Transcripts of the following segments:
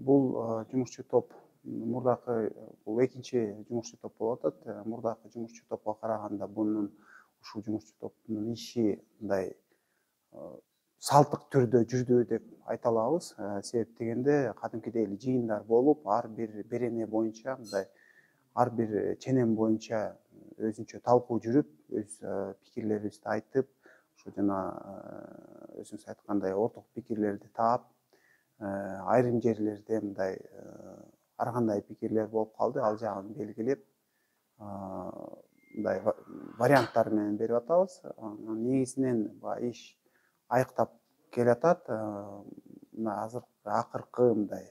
Бул жумушчу топ мурдакы бул экинчи жумушчу топ болуп атат. Мурдакы жумушчу топко караганда ушул жумушчу топтун иши мындай салттык түрдө жүрдү деп айта алабыз. Себеп дегенде кадимкидей эле жыйындар болуп, ар бир берене боюнча мындай ар бир ченем боюнча өзүнчө талкуу жүрүп, өз пикирлерибизди айтып, ушу жана өзүңүз айткандай орток пикирлерди таап, айрым жерлерде мындай ар кандай пикирлер болуп калды, ал жагын белгилеп, мындай варианттар менен берип атабыз. Негизинен баягы иш айыктап келатат. Мына акыркы мындай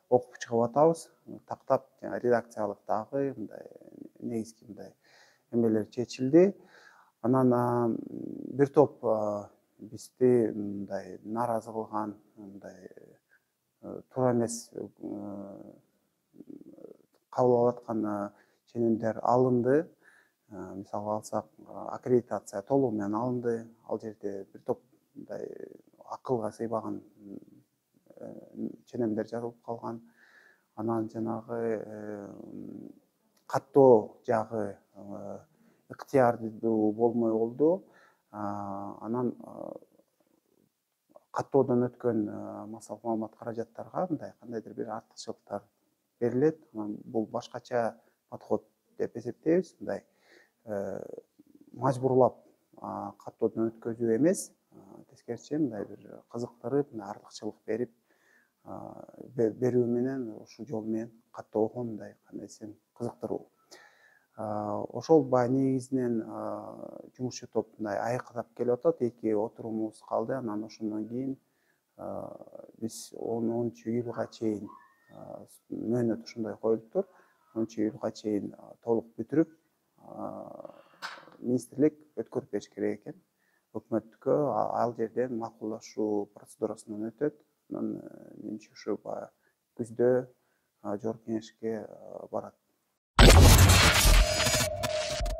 окуп чыгып атабыз. Тактап редакциялык дагы мындай негизги мындай эмелер чечилди. Анан бир топ бизди мындай нааразы кылган, мындай туура эмес кабыл алып аткан ченемдер алынды. Мисалга алсак, аккредитация толугу менен алынды. Ал жерде бир топ мындай акылга сыйбаган ченемдер жазылып калган. Анан жанагы каттоо жагы ыктыярдуу болмой калды. Анан каттоодон өткөн массалык маалымат каражаттарга мындай кандайдыр бир артыкчылыктар берилет. Анан бул башкача подход деп эсептейбиз. Мындай мажбурлап каттоодон өткөзүү эмес, тескерисинче мындай бир кызыктырып, артыкчылык берип берүү менен ушул жол менен каттоого мындай кандай десем кызыктыруу. Ошол баягы негизинен жумушчу топ мындай айыктап келип атат. 2 отурумубуз калды. Анан ошондон кийин биз 10-июлга чейин мөөнөт ошондой коюлуптур. 10-июлга чейин толук бүтүрүп, министрлик өткөрүп бериш керек экен өкмөткө. Ал жерден макулдашуу процедурасынан өтөт. Анан менимче ушу баягы күздө жогорку кеңешке барат.